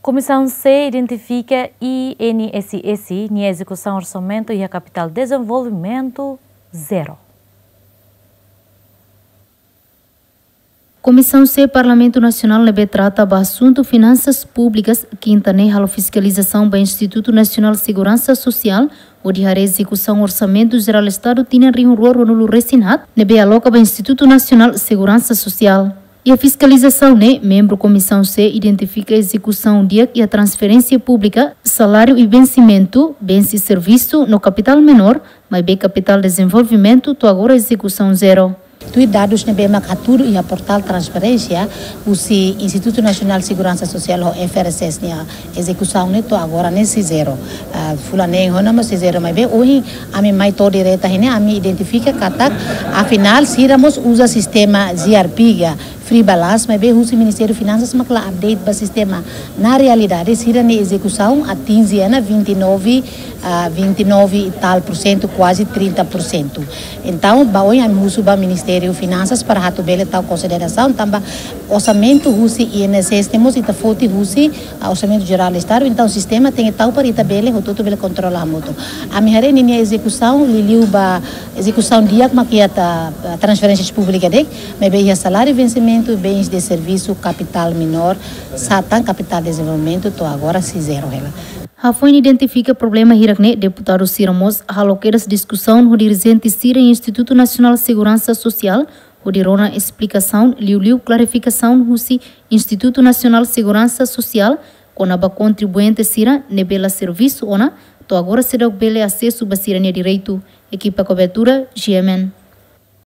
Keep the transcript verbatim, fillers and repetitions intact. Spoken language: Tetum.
Komisaun C identifika I N S S nia ezekusaun orsamentu iha kapitál dezenvolvimentu zero. Komisaun C Parlamentu Nasionál ne'ebé trata ba asuntu finansas públikas, kinta ne'e halo fiskalizasaun ba Institutu Nasionál Seguransa Sosiál, hodi haree ezekusaun Orsamentu Jerál Estadu tinan rihun rua ruanulu resin haat, ne'ebé aloka ba Institutu Nasionál Seguransa Sosiál. Iha fiskalizasaun ne'e, membru Komisaun C identifika ezekusaun di'ak iha transferénsia públika, saláriu i vensimentu, bens i servisu no kapitál menór, maibé kapitál dezenvolvimentu to'o agora ezekusaun zero. Tuir dadus ne'ebé mak hatudu iha portál transparénsia husi Institutu Nasionál Seguransa Sosiál ho F R S S nia ezekusaun ne'e to'o agora ne'e sei zero. Ah, fulan neen ona mós sei zero, maibé ohin ami mai to'o direta iha ne'e, ami identifika katak afinál sira mós uza sistema G R P ka free balance, maibé husi Ministériu Finansas mak la update ba sistema. Na realidade, sira-nia ezekusaun atinje ona vinte e nove, ah, vinte e nove e tal por cento, kuaze trinta por cento. Entaun, ba ohin ami husu ba Ministériu Finansas para atu bele tau konsiderasaun, tanba orsamentu husi I N S S ne'e mós ita foti husi, ah, Orsamentu Jerál Estadu, entaun sistema tenke tau para ita bele, hotu-hotu bele kontrola hamutuk. Ami haree ninia ezekusaun, liuliu ba ezekusaun di'ak mak iha transferénsias públikas de'it, maibé iha saláriu, vensimentu, bens de servisu, kapitál menór, sá tan kapitál dezenvolvimentu to'o agora sei zero hela. Hafoin identifika problema hirak ne'e, deputadu sira mós halo kedas diskusaun ho dirijente sira iha Institutu Nasionál Seguransa Sosiál, hodi rona esplikasaun, liuliu klarifikasaun husi Institutu Nasionál Seguransa Sosiál, kona-ba kontribuinte sira ne'ebé la servisu ona, to'o agora seidauk bele asesu ba sira-nia direitu. Ekipa kobertura, G M N.